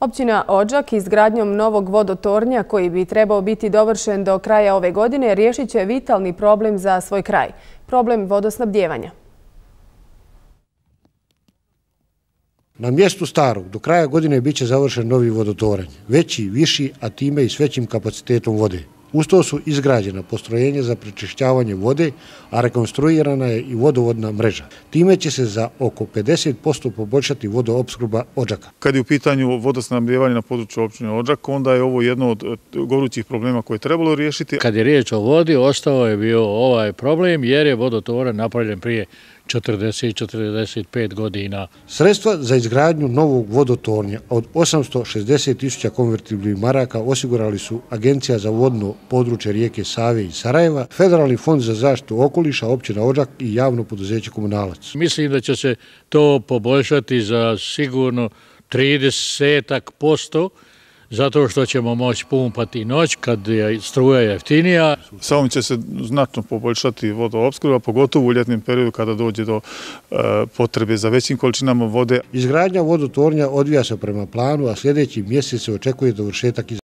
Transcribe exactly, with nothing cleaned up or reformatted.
Općina Odžak izgradnjom novog vodotornja koji bi trebao biti dovršen do kraja ove godine riješit će vitalni problem za svoj kraj, problem vodosnabdijevanja. Na mjestu starog do kraja godine bit će završen novi vodotoranj, veći, viši, a time i s većim kapacitetom vode. Uz to su izgrađena postrojenja za prečišćavanje vode, a rekonstruirana je i vodovodna mreža. Time će se za oko pedeset posto poboljšati vodoopskrba Odžaka. Kad je u pitanju vodosnabdijevanje na području općine Odžak, onda je ovo jedno od gorućih problema koje je trebalo riješiti. Kad je riječ o vodi, ostao je bio ovaj problem jer je vodotoranj napravljen prije četrdeset do četrdeset pet godina. Sredstva za izgradnju novog vodotornja od osamsto šezdeset tisuća konvertibilnih maraka osigurali su Agencija za vodno područje rijeke Save i Sarajeva, Federalni fond za zaštitu okoliša, općina Odžak i javno poduzeće Komunalac. Mislim da će se to poboljšati za sigurno trideset posto, zato što ćemo moći pumpati noć kad je struja jeftinija. Sa ovim će se znatno poboljšati vodoopskrba, pogotovo u ljetnom periodu kada dođe do e, potrebe za većim količinama vode. Izgradnja vodotornja odvija se prema planu, a sljedeći mjesec se očekuje dovršetak izgradnje.